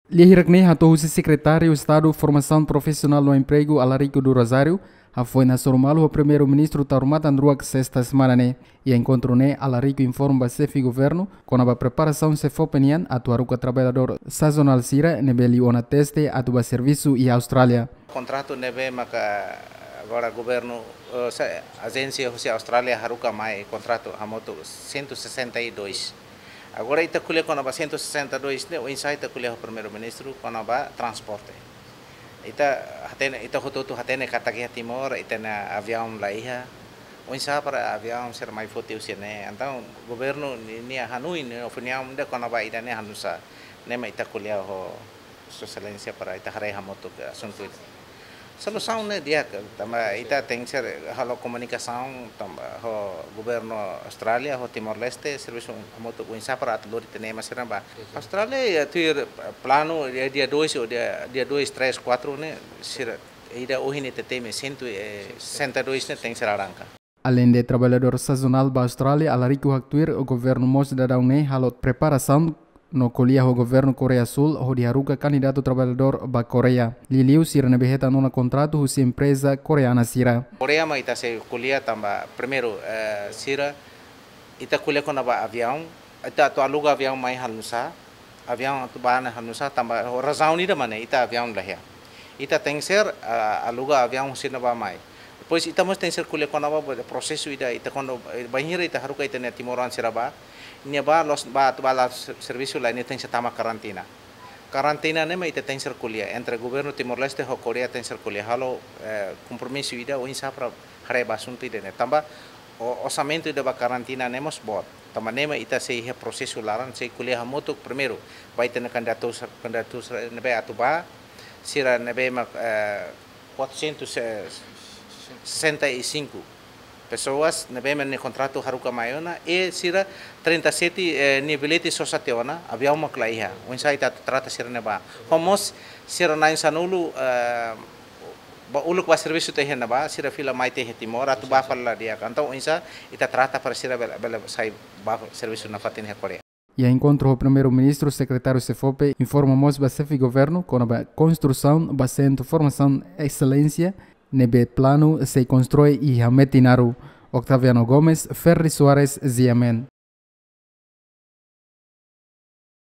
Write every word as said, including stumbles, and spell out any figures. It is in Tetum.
Lia hirak-ne'e hato'o husi Sekretáriu Estadu Formasaun Profisionál no Empregu, Alarico do Rosário, hafoin hasoru malu ho Primeiru-Ministru Taur Matan Ruak sesta semana ne'e. Iha enkontru ne'e, Alarico informa ba Xefe Governu kona-ba preparasaun SEFOPE nian atu haruka traballadór sazonál sira ne'ebé liu ona teste atu bá servisu iha Austrália. Kontratu ne'ebé maka agora governu, eh, se-, ajénsia husi Austrália haruka mai kontratu hamutuk cento e sessenta e dois. Agora ita ko'alia kona-ba cento e sessenta e dois ne'e, oinsá ita ko'alia ho Primeiru-Ministru kona-ba transporte. Ita hatene, ita hotu-hotu hatene katak iha Timor ita-nia aviaun la iha. Oinsá para aviaun sira mai foti husi ne'e. Entaun governu ni-, nia hanoin, nia opiniaun de'it kona-ba ida-ne'e hanusá. Ne'e mak ita ko'alia ho Sua Exelénsia para ita haree hamutuk asuntu ida. Solusaun ne'e di'ak, tanba ita tenke ser halo komunikasaun tanba ho governu Austrália, ho Timor-Leste, servisu hamutuk oinsá para atu lori ita-nia ema sira bá. Austrália iha tuir planu dia, dia dois ou dia, dia dois, três, quatro ne'e sira, ida ohin ita temi cento e sessenta e dois ne'e tenke ser arranka. Aleinde traballadór sazonál ba Austrália, Alarico haktuir, governu mós daudaun ne'e halo preparasaun no ko'alia ho governu Koreia Súl hodi haruka kandidatu traballadór ba Koreia. Liuliu sira ne'ebé hetan ona kontratu husi empreza koreana sira. Koreia mak ita sei ko'alia tanba primeiru, eh, sira ita ko'alia kona-ba aviaun, ita atu aluga aviaun mai hanusá, aviaun atu bá ne'e hanusá tanba ho razaun ida mak ne'e ita aviaun la iha. Ita tenke ser, ah, aluga aviaun husi ne'ebá mai. Depois ita mós tenke ser ko'alia kona-ba prosesu ida ita kuandu, eh, bainhira ita haruka ita-nia timoroan sira bá, nia bá la'ós bá atu bá la ser-, servisu lae, nia tenke ser tama karantina. Karantina ne'e mak ita tenke ser ko'alia entre governu Timor-Leste ho Koreia tenke ser ko'alia halo, eh, kompromisu ida oinsá para haree ba asuntu ida-ne'e. Tanba o-, orsamentu ida ba karantina ne'e mós boot. Tanba ne'e mak ita sei iha prosesu laran, sei ko'alia hamutuk primeiru ba ita-nia kandidatu, kandidatu ne'ebé atu bá, sira ne'ebé mak, eh, quatrocentos e sessenta e cinco pessoas ne'ebé mak nia kontratu haruka mai ona, i sira trinta e sete, eh, nia bilhete sosa tiha ona, aviaun mak la iha. Oinsá ita atu trata sira-ne'e bá. Ho mós sira na'in sanulu, eh, bá uluk bá servisu tiha iha ne'ebá, sira fila mai tiha iha Timor, atu bá fali la di'ak. Entaun oinsá ita trata para sira bele, bele sai bá servisu nafatin iha Koreia. Iha enkontru ho Primeiru-Ministru, Sekretáriu SEFOPE informa mós ba Xefe Governu kona-ba konstrusaun ba Sentru Formasaun Exelénsia ne'ebé planu sei konstrui iha Metinaro. Octaviano Gomes, Ferri Soares, G M N.